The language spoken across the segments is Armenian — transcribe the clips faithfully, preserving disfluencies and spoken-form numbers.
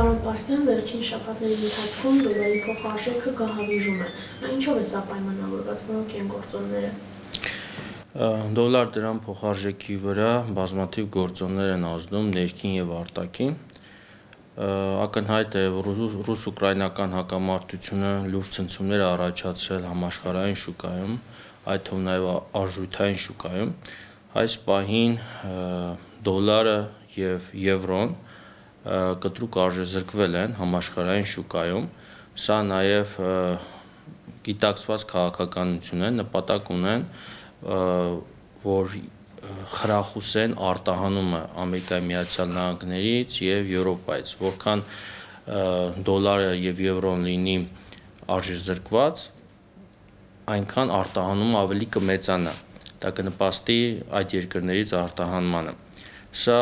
Պարոն Պարսյան, վերջին շաբաթների ընթացքում դոլարի փոխարժեքը գահավիժում է։ Ինչով է սա պայմանավորված, որոնք են գործոնները։ Դոլար դրամ փոխարժեքի վրա բազմաթիվ գործոններ են ազդում ներքին եւ արտաքին։ Ակնհայտ է, որ ռուս-ուկրաինական հակամարտությունը լուրջ ցնցումներ է առաջացրել համաշխարհային շուկայում, այդ թվում նաեւ արժութային շուկայում։ Այս պահին դոլարը եւ եվրոն կտրուկ արժեզրկվել են համաշխարհային շուկայում, սա նաև գիտակցված քաղաքականություն է, նպատակ ունեն, որ խրախուսեն արտահանումը Ամերիկայի Միացյալ Նահանգներից եւ Եվրոպայից, որքան դոլարը եւ եվրոն լինի արժեզրկված, այնքան արտահանումը ավելի կմեծանա, դա կնպաստի այդ երկրներից արտահանմանը։ Սա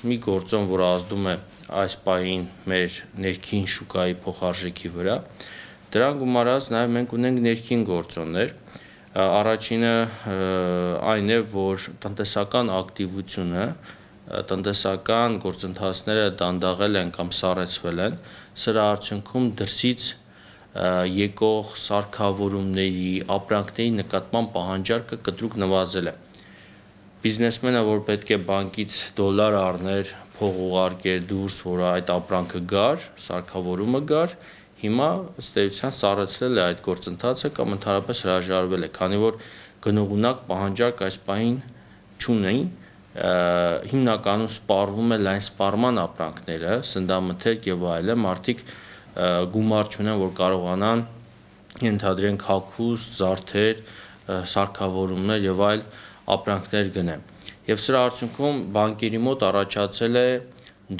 մի գործոն, որ ազդում է այս պահին մեր ներքին շուկայի փոխարժեքի վրա, դրան գումարած նաև մենք ունենք ներքին գործոններ, առաջինը այն է, որ տնտեսական ակտիվությունը, տնտեսական գործընթացները դանդաղել են կամ սառեցվել են, սրա արդյունքում դրսից եկող սարքավորումների, ապրանքների նկատմամբ պահանջարկը կտրուկ նվազել է։ Բիզնեսմենը, որ պետք է բանկից դոլար առներ, փող ուղարկեր դուրս, որ այդ ապրանքը գար, սարքավորումը գար, հիմա ըստ էության սառեցրել է այդ գործընթացը կամ ընդհանրապես հրաժարվել է, քանի որ գնողունակ պահանջարկ այս պահին չունի, հիմնականում սպառվում է լայն սպառման ապրանքները, սննդամթերք եւ այլն, մարդիկ գումար չունեն, որ կարողանան ենթադրենք հագուստ, զարդեր, սարքավորումներ եւ այլ ապրանքներ գնեն։ Եվ սրա արդյունքում բանկերի մոտ առաջացել է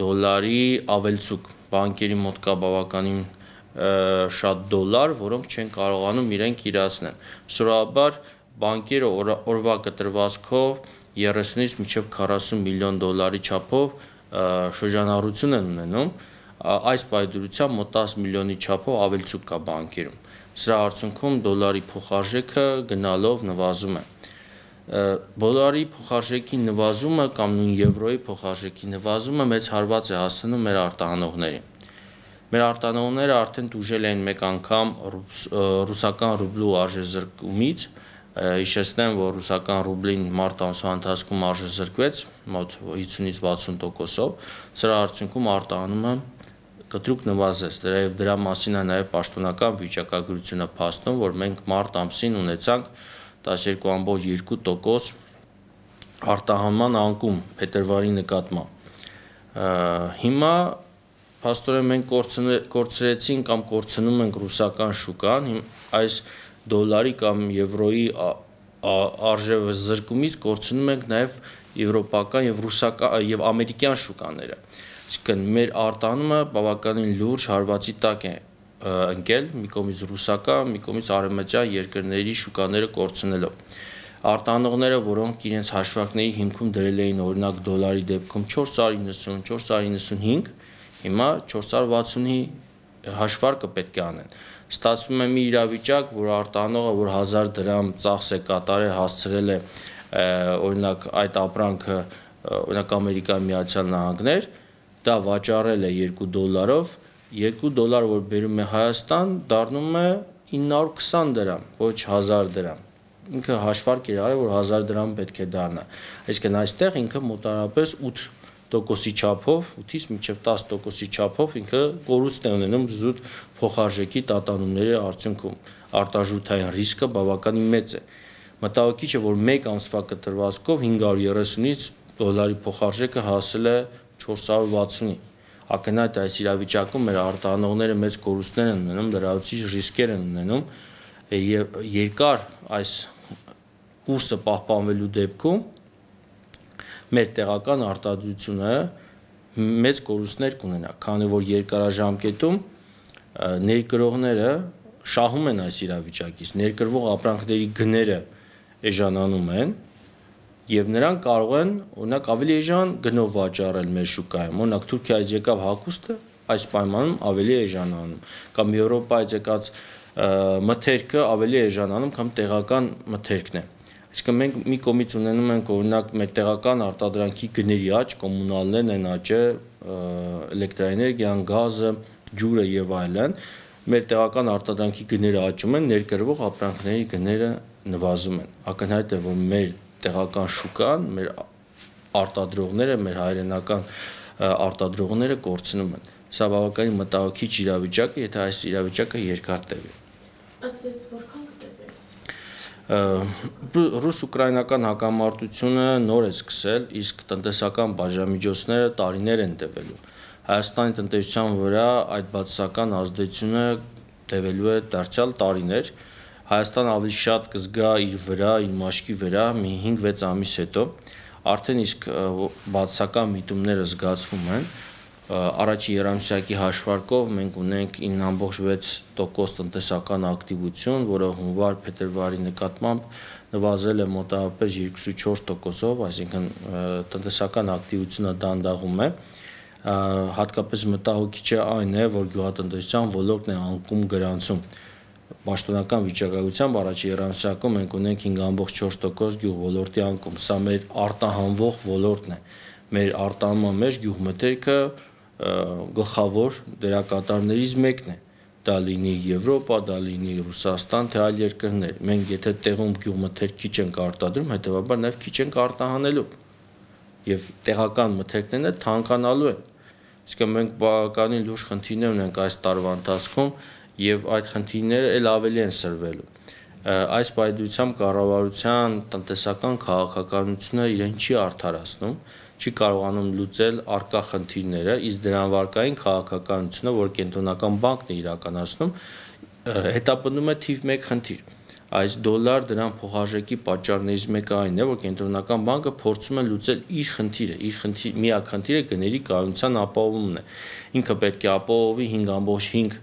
դոլարի ավելցուկ, բանկերի մոտ կա բավականին շատ դոլար, որոնք չեն կարողանում իրենք իրացնել։ Սովորաբար բանկերը օրվա կտրվածքով երեսունից մինչև քառասուն միլիոն դոլարի չափով շրջանառություն են ունենում, այս պայդրությամբ մոտ տասը միլիոնի չափով ավելցուկ կա բանկերում։ Սրա արդյունքում դոլարի փոխարժեքը գնալով նվազում է։ Դոլարի փոխարժեքի նվազումը կամ նույն եվրոյի փոխարժեքի նվազումը մեծ հարված է հասցնում մեր արտահանողներին։ Մեր արտահանողները արդեն տուժել են մեկ անգամ ռուսական ռուբլու արժեզրկումից, հիշեցնեմ, որ ռուսական ռուբլին մարտ ամսվա ընթացքում արժեզրկվեց մոտ հիսունից վաթսուն տոկոսով, սրա արդյունքում արտահանումը կտրուկ նվազեց, դեռ դրա մասին է նաև պաշտոնական վիճակագրությունը փաստում, որ մենք մարտ ամսին ունեցանք տասներկու կόμμα երկու տոկոս արտահանման անկում փետրվարի նկատմամբ։ Հիմա փաստորեն մենք կորցրեցինք կամ կորցնում ենք ռուսական շուկան, այս դոլարի կամ եվրոյի արժեզրկումից կորցնում ենք նաև եվրոպական եւ ռուսական եւ ամերիկյան շուկաները։ Այսինքն մեր արտահանումը բավականին լուրջ հարվածի տակ է ընկել մի կողմից ռուսական, մի կողմից արևմտյան երկրների շուկաները կորցնելով։ Արտահանողները, որոնք իրենց հաշվարկների հիմքում դրել էին օրինակ դոլարի դեպքում չորս հարյուր նվսուն, չորս հարյուր նվսունհինգ, հիմա չորս հարյուր վաթսունի հաշվարկը պետք է անեն։ Ստացվում է մի իրավիճակ, որ արտահանողը, որ հազար դրամ ծախս է կատարել, հասցրել է օրինակ այդ ապրանքը օրինակ Ամերիկայի Միացյալ Նահանգներ, դա վաճառել է երկու դոլարով, երկու դոլար, որ բերում է Հայաստան, դառնում է ինը հարյուր քսան դրամ, ոչ հազար դրամ։ Ինքը հաշվարկ էր արել, որ հազար դրամ պետք է դառնա։ Այսինքն այստեղ ինքը մոտարապես ութ տոկոսի չափով, ութից մինչև տասը տոկոսի չափով ինքը կորուստ է ունենում զուտ փոխարժեքի տատանումների արդյունքում։ Արտարժութային ռիսկը բավականին մեծ է։ Մտահոգիչ է, որ մեկ ամսվա կտրվածքով հինգ հարյուր երեսունից դոլարի փոխարժեքը հասել է չորս հարյուր վաթսունի։ Ակնհայտ այս իրավիճակում մեր արտահանողները մեծ կորուստներ են ունենում, լրացուցիչ ռիսկեր են ունենում եւ երկար այս կուրսը պահպանվելու դեպքում մեր տեղական արտադրությունը մեծ կորուստներ կունենա, քանի որ երկարաժամկետում ներկրողները շահում են այս իրավիճակից, ներկրվող ապրանքների գները էժանանում են եւ նրանք կարող են օրինակ ավելի էժան գնով վաճառել մեր շուկայում, օրինակ Թուրքիայից եկավ հագուստը այս պայմանում ավելի էժանանում, կամ Եվրոպայից եկած մթերքը ավելի էժանանում, կամ տեղական մթերքն է։ Այսինքն մենք մի կողմից ունենում ենք օրինակ մեր տեղական արտադրանքի գների աճ, կոմունալներն են աճը, էլեկտրաէներգիան, գազը, ջուրը եւ այլն, մեր տեղական արտադրանքի գները աճում են, ներկրվող ապրանքների գները նվազում են։ Ակնհայտ է, որ մեր տեղական շուկան, մեր արտադրողները, մեր հայրենական արտադրողները կորցնում են։ Սա բավականին մտահոգիչ իրավիճակ է, եթե այս իրավիճակը երկար տևի։ Ըստ ես որքան կտևի։ Ռուս-ուկրաինական հակամարտությունը նոր է սկսել, իսկ տնտեսական բաժամիջոցները տարիներ են տևելու։ Հայաստանի տնտեսության վրա այդ բացասական ազդեցությունը տևելու է դարձյալ տարիներ։ Հայաստանը ավելի շատ կզգա իր վրա, իր մաշկի վրա մի հինգ-վեց ամիս հետո, արդեն իսկ բացասական միտումները զգացվում են։ Առաջի երամսյակի հաշվարկով մենք ունենք ինը ամբողջ վեց տոկոս տնտեսական ակտիվություն, որը հունվար-փետրվարի նկատմամբ նվազել է մոտավորապես երկուսից չորս տոկոսով, այսինքն տնտեսական ակտիվությունը դանդաղում է։ Հատկապես մտահոգիչը այն է, որ գյուղատնտեսության ոլորտն է անկում գրանցում։ Պաշտոնական վիճակագրությամբ առաջի երամսյակում մենք ունենք հինգ ամբողջ չորս տոկոս գյուղ ոլորտի անկում։ Սա մեր արտահանվող ոլորտն է։ Մեր արտահանման մեջ գյուղմթերքը գլխավոր դերակատարներից մեկն է։ Դա լինի Եվրոպա, դա լինի Ռուսաստան, թե այլ երկրներ։ Մենք եթե տեղում գյուղմթերք քիչ ենք արտադրում, հետեւաբար նաև քիչ ենք արտահանելու։ Եվ տեղական մթերքներն թանկանալու են։ Իսկ մենք բավականին լուրջ խնդիրներ ունենք այս տարվա ընթացքում եւ այդ խնդիրները ել ավելի են սրվելու։ Այս պայմանությամբ կառավարության տնտեսական քաղաքականությունը իրեն չի արդարացնում, չի կարողանում լուծել առկա խնդիրները, իսկ դրան վարկային քաղաքականությունը, որ կենտրոնական բանկն է իրականացնում, հետապնդում է թիվ մեկ խնդիր։ Այս դոլար դրան փոխարժեքի պատճառներից մեկը այն է, որ կենտրոնական բանկը փորձում է լուծել իր խնդիրը, իր խնդիր, միակ խնդիրը գների կայունության ապահովումն է։ Ինքը պետք է ապահովի հինգ ամբողջ հինգ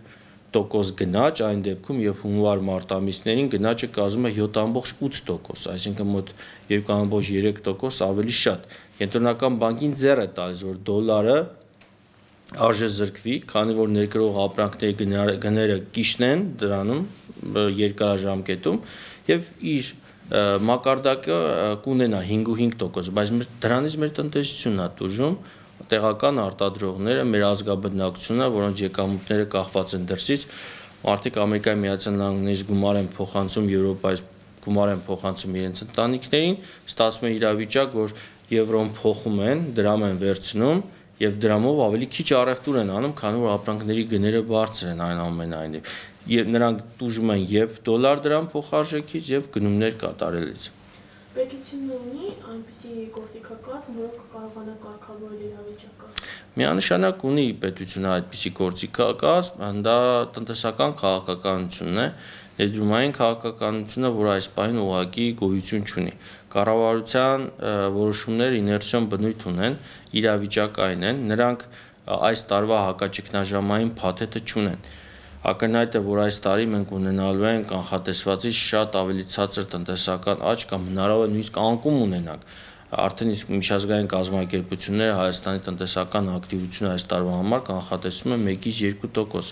տոկոս գնաճ, այն դեպքում, երբ հունվար-մարտ ամիսներին գնաճը կազմում է յոթ ամբողջ ութ տոկոս, այսինքն մոտ երկու ամբողջ երեք տոկոս ավելի շատ։ Կենտրոնական բանկին ձեռ է տալիս, որ դոլարը արժե զրկվի, քանի որ ներկրող ապրանքների գները կիշնեն դրանում երկարաժամկետում եւ իր մակարդակը կունենա հինգ ու հինգ տոկոս, բայց դրանից մեր տնտեսությունն է տուժում, տեղական արտադրողները, մեր ազգաբնակչությունը, որոնց եկամուտները կախված են դրսից, մարդիկ Ամերիկայի Միացյալ Նահանգներից գումար են փոխանցում Եվրոպայից, գումար են փոխանցում իրենց ընտանիքներին, ստացվում է իրավիճակ, որ եվրոն փոխում են, դրամ են վերցնում եւ դրամով ավելի քիչ առևտուր են անում, քանի որ ապրանքների գները բարձր են այնուամենայնիվ։ Եվ նրանք տուժում են եւ դոլար դրամ փոխարժեքից եւ գնումներ կատարելից։ Պետությունը ունի այնպիսի գործիքակազմ, որը կկարողանա կարգավորել իրավիճակը։ Միանշանակ ունի պետությունը այդպիսի գործիքակազմ, դա տնտեսական քաղաքականությունն է, ներդրումային քաղաքականությունը, որ այս պահին ուղղակի գոյություն չունի։ Կառավարության որոշումները իներցիոն բնույթ ունեն, իրավիճակ այն են, նրանք այս տարվա հակաճգնաժամային փաթեթը չունեն։ Ակնհայտ է, որ այս տարի մենք ունենալու ենք կանխատեսվածից շատ ավելի ցածր տնտեսական աճ կամ հնարավոր է նույնիսկ անկում ունենանք։ Արդեն իսկ միջազգային կազմակերպությունները Հայաստանի տնտեսական ակտիվությունը այս տարվա համար կանխատեսում են մեկից երկու տոկոս,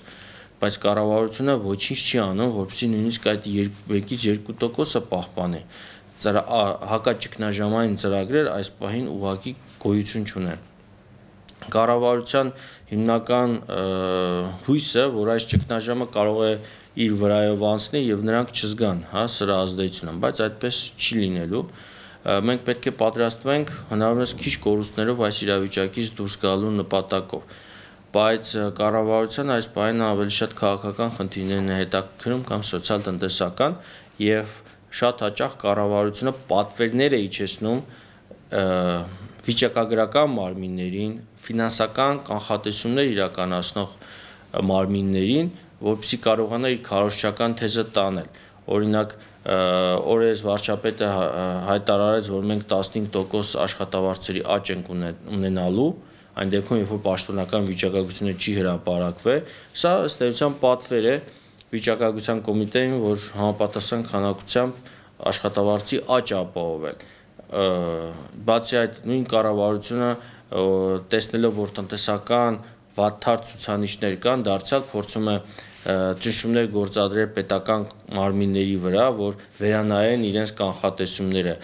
բայց կառավարությունը ոչինչ չի անում, որպեսզի նույնիսկ այդ մեկից երկու տոկոսը պահպանի։ Հակաճգնաժամային ծրագրեր այս պահին ուղղակի գոյություն չունեն։ Կառավարության հիմնական հույսը, որ այս ճգնաժամը կարող է իր վրայով անցնել եւ նրանք չզգան, հա, սրա ազդեցությունը, բայց այդպես չի լինելու։ Մենք պետք է պատրաստվենք հնարավորինս քիչ կորուստներով այս իրավիճակից դուրս գալու նպատակով, բայց կառավարության այս պահին ավելի շատ քաղաքական խնդիրներն է հետաքրքրում կամ սոցիալ-տնտեսական եւ շատ հաճախ կառավարությունը պատվերներ է իջեցնում վիճակագրական մարմիններին, ֆինանսական կանխատեսումներ իրականացնող մարմիններին, որպեսզի կարողանա իր քարոզչական թեզը տանել։ Օրինակ, օրերս վարչապետը հայտարարեց, որ մենք տասնհինգ տոկոս աշխատավարձերի աճ ենք ունենալու, այն դեպքում, երբ որ պաշտոնական վիճակագրությունը չի հրապարակվել, սա ըստ էության պատվեր է վիճակագրության կոմիտեին, որ համապատասխան քանակությամբ աշխատավարձի աճ ապահովել։ Բացի այդ, նույն կառավարությունը տեսնելով, որ տնտեսական վատթար ցուցանիշներ կան, դարձյալ փորձում է ճնշումներ գործադրել պետական մարմինների վրա, որ վերանայեն իրենց կանխատեսումները։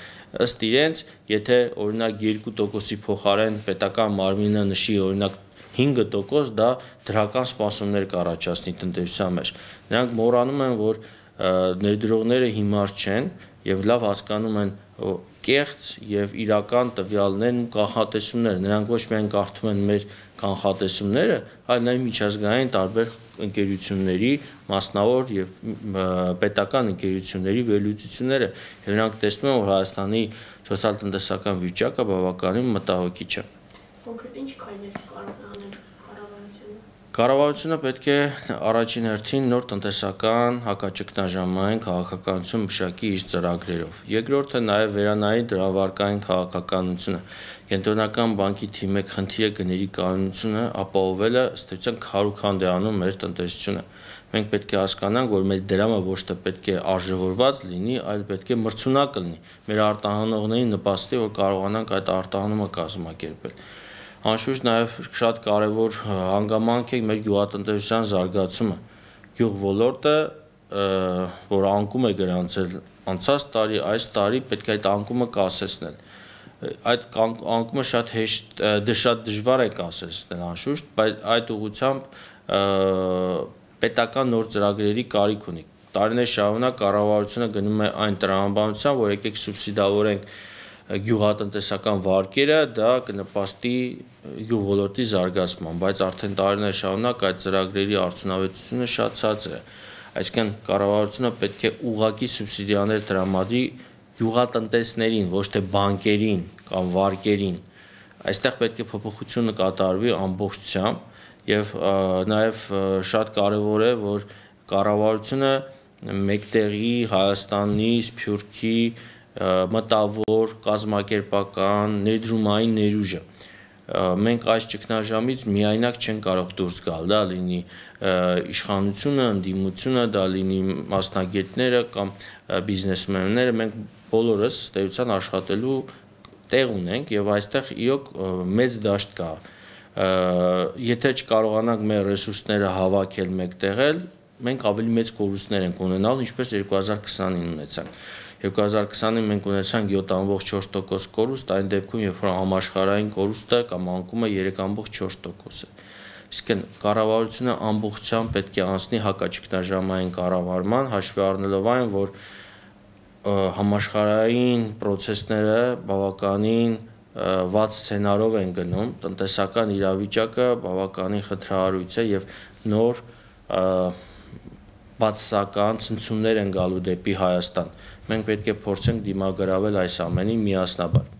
Ըստ իրենց, եթե օրինակ երկու տոկոսի փոխարեն պետական մարմինը նշի օրինակ հինգ տոկոս դա դրական սպասումներ կառաջացնի տնտեսության մեջ։ Նրանք մոռանում են, որ ներդրողները հիմար չեն եւ լավ հասկանում են կեղծ եւ իրական տվյալներն ու կանխատեսումները, նրանք ոչ միայն կարդում են մեր կանխատեսումները, այլ նաեւ միջազգային տարբեր ընկերությունների, մասնավոր եւ պետական ընկերությունների վերլուծությունները, եւ նրանք տեսնում են, որ Հայաստանի սոցիալ-տնտեսական վիճակը բավականին մտահոգիչ է։ Կոնկրետ ինչ քայլեր կարող է անել կառավարությունը։ Կառավարությունը պետք է առաջին հերթին նոր տնտեսական հակաճգնաժամային քաղաքականություն մշակի իր ծրագրերով։ Երկրորդը նաև վերանայի դրամարկային քաղաքականությունը։ Կենտրոնական բանկի թիմի մեկ խնդիրը գների կանոնությունը ապահովելը ըստ էության քարուքանդ է անում մեր տնտեսությունը։ Մենք պետք է հասկանանք, որ մեր դրամը ոչ թե պետք է արժևորված լինի, այլ պետք է մրցունակ լինի։ Մեր արտահանողներին նպաստի, որ կարողանանք այդ արտահանումը կազմակերպել։ Անշուշտ նաև շատ կարևոր հանգամանք է մեր գյուղատնտեսության զարգացումը։ Գյուղ ոլորտը, որ անկում է գրանցել անցած տարի, այս տարի պետք է այդ անկումը կասեցնել։ Այդ անկումը շատ հեշտ, շատ դժվար է կասեցնել անշուշտ, բայց այդ ուղղությամբ պետական նոր ծրագրերի կարիք ունի։ Տարիներ շարունակ կառավարությունը գնում է այն տրամաբանությամբ, որ եկեք սուբսիդավորենք գյուղատնտեսական վարկերը, դա կնպաստի գյուղ ոլորտի զարգացման, բայց արդեն տարիներ շարունակ այդ ծրագրերի արդյունավետությունը շատ ցածր է։ Այսինքն կառավարությունը պետք է ուղղակի սուբսիդիաներ տրամադրի գյուղատնտեսներին, ոչ թե բանկերին կամ վարկերին։ Այստեղ պետք է փոփոխությունը կատարվի ամբողջությամբ եւ նաեւ շատ կարեւոր է, որ կառավարությունը մեկտեղի Հայաստանի, Սփյուռքի մտավոր, կազմակերպական, ներդրումային ներուժը։ Մենք այս ճգնաժամից միայնակ չենք կարող դուրս գալ, դա լինի իշխանությունը, ընդդիմությունը, դա լինի մասնագետները կամ բիզնեսմենները, մենք բոլորս ստեյության աշխատելու տեղ ունենք եւ այստեղ իոք մեծ դաշտ կա։ Եթե չկարողանանք մեր ռեսուրսները հավաքել մեկտեղել, մենք ավելի մեծ կորուստներ ենք ունենալ, ինչպես երկու հազար քսանին ունեցանք։ երկու հազար քսանին մենք ունեցանք յոթ կόμμα չորս տոկոս կորուստ, այն դեպքում, երբ որ համաշխարհային կորուստը կամ անկումը երեք կόμμα չորս տոկոս է։ Իսկ կառավարությունը ամբողջությամբ պետք է անցնի հակաճգնաժամային կառավարման, հաշվի առնելով այն, որ համաշխարհային պրոցեսները բավականին վատ սցենարով են գնում, տնտեսական իրավիճակը բավականին խնդրահարույց է եւ նոր բացասական ցնցումներ են գալու դեպի Հայաստան։ Մենք պետք է փորձենք դիմագրավել այս ամենին միասնաբար։